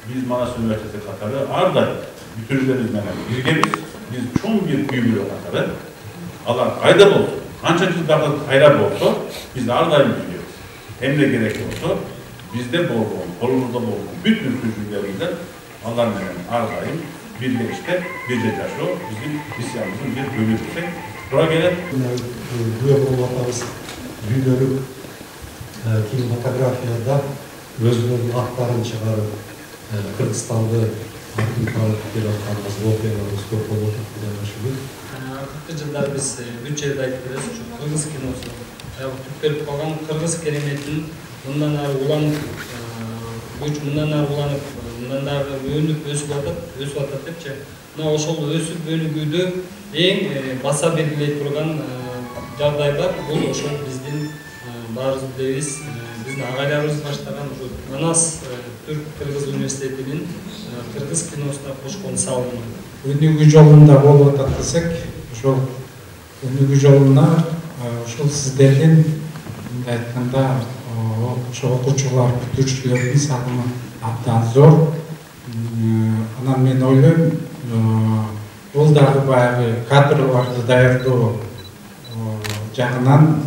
Biz Manas Üniversitesi Katarı arda bütünlerimiz menен birgemiz. Biz çoğun bir büyümlü Katarı. Allah kayda olsun. Kançacız daha hayra olsa biz ardayım biliyoruz. Hem de gerek olsa bizde bol bol, kolumuzda bol bol. Bütün tücrülerimizden Allah menен ardayım. Birge işte, birce taşı bizim isyanımızın bir bölümüysek. Buraya gelen Büyük olmalarımız büyülörük kinematografiyada özünün aktarını çıkarıp Kırgızistan'da akın tanıp gelen operalarımız çok olur diye düşünüyorum. 40 yıllar biz bütçede aytıyoruz. Kırgız kinosu. Türkler kogan Kırgız kelimetin bundan ara ulanıp, bundan ara ulanıp, bundan ara önüp ösüp atat depçi. Mына ошол өсүп өнүгүүдө эң баса белгилей турган жагдай бар. Бул ошол биздин баарыбыз билебиз, биздин агайларыбыз баштаган ошо Манас Түрк-Кыргыз университетинин кыргыз киносуна кошкон салымы. Өнүгүү жолунда болуп атат десек, ошол өнүгүү жолуна ошол сиздердин мындай айтканда ошо окуучулар, бүтүрүүчүлөрдүн салымы абдан зор. Анан мен ойлойм, бул дагы баягы кадрларды даярдоо жагынан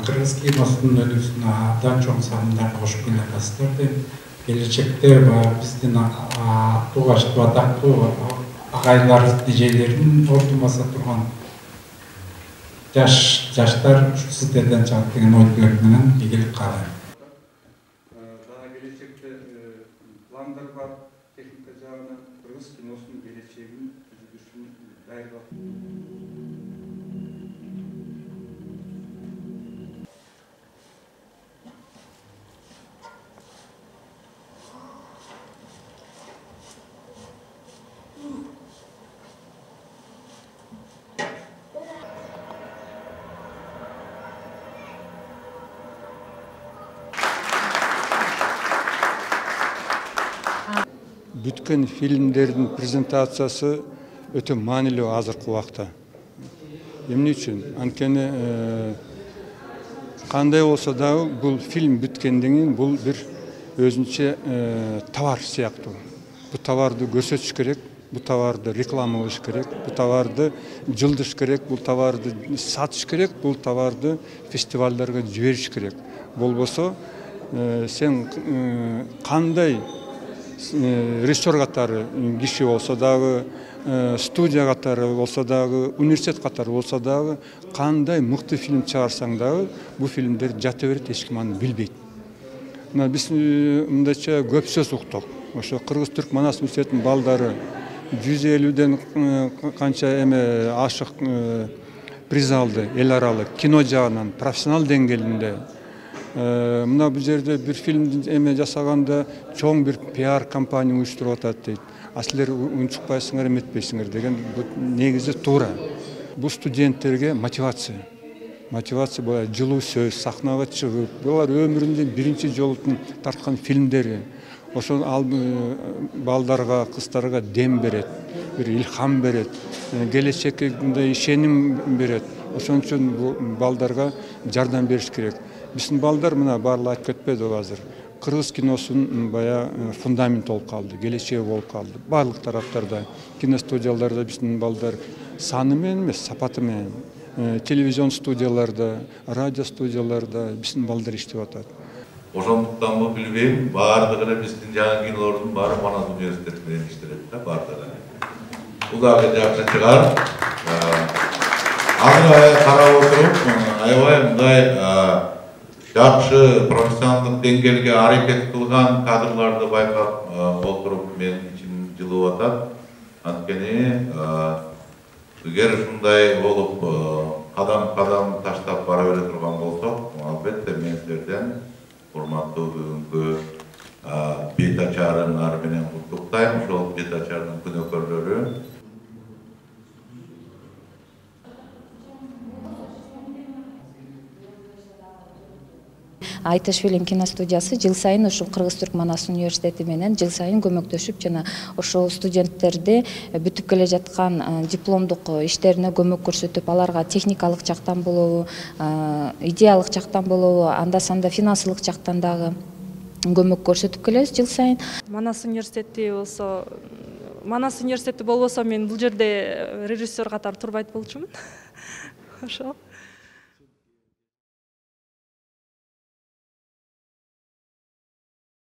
кыргыз киносунун өнүгүүсүнө абдан чоң салымдар кошуп келатасыздар деп. Келечекте биздин туугачтуу атактуу агайлар, дижейлердин ордун баса турган жаштар ушу сиздерден чыгат деген ой тилек менен ийгилик каалайм. Келечекте пландар бар, техника жагынан кыргыз киносунун келечегин түзүлүшүн даярдап. Бүткөн фильмдердин презентациясы өтө маанилүү азыркы убакта. Эмне үчүн? Анткени кандай болсо дагы бул фильм бүткөндөн кийин бул бир өзүнчө товар сыяктуу. Бул товарды көрсөтүш керек, бул товарды реклама кылыш керек, бул товарды жылдыш керек, бул товарды сатыш керек, бул товарды фестивалдарга жибериш керек. Болбосо сен кандай режиссер катары киши болсо дагы, студия катары болсо дагы, университет катары болсо дагы, кандай мыкты фильм чыгарсаң дагы, бул фильмдер жата берет, эч ким аны билбейт. Мына биз мындайча көп сөз уктук. Ошо Кыргыз-Түрк Манас университетинин балдары 150ден канча ашык приз алды, эл аралык кино жагынан, профессионал деңгээлинде. Мына бул жерде бир фильм жасаганда чоң бир пиар компания уюштуруп атат дейт. А силер унчукпайсыңар, эметпейсиңер деген негизи туура. Бул студенттерге мотивация. Мотивация була жылуу сөз, сахнага чыгып, булар өмүрүндө биринчи жолу тарткан фильмдери. Ошол балдарга, кыздарга дем берет, бир илхам берет, келечекке ишеним берет. Ошон үчүн бул балдарга жардам бериш керек. Биздин балдар мына баарлап айтып кетпеди азыр. Кыргыз киносунун бая фундамент болуп калды, келечеги болуп калды. Барлык тараптарда, киностудияларда биздин балдар саны менен эмес, сапаты менен, телевизион студияларда, радио студияларда биздин балдар иштеп атат. Ошондуктан бул билбейм, баардыгы эле биздин жаңы кинолордун баары Манас университети менен иштелет да, баардыгы. Бул дагы жакшы чыгар. Азыр карап отуруп, аябай мындай жакшы профессионалдык деңгээлге аракет кылган кадрларды байкап отуруп мен ичим жылып атат. Анткени эгер ушундай болуп кадам таштап бара бере турган болсок, албетте мен силерден урматтуу бүгүнкү бет ачарыңар менен куттуктайм. Ошол бет ачардын күнөөкөрлөрү Айтыш фильм киностудиясы жыл сайын ушул Кыргыз-Түрк Манас университети менен жыл сайын көмөктөшүп жана ошол студенттерди бүтүп келе жаткан дипломдук иштерине көмөк көрсөтүп, аларга техникалык жактан болобу, идеялык жактан болобу, анда санда финансылык жактан дагы көмөк көрсөтүп келебиз жыл сайын. Манас университети болбосо мен бул жерде режиссер катары турбайт болчумун. Ошол.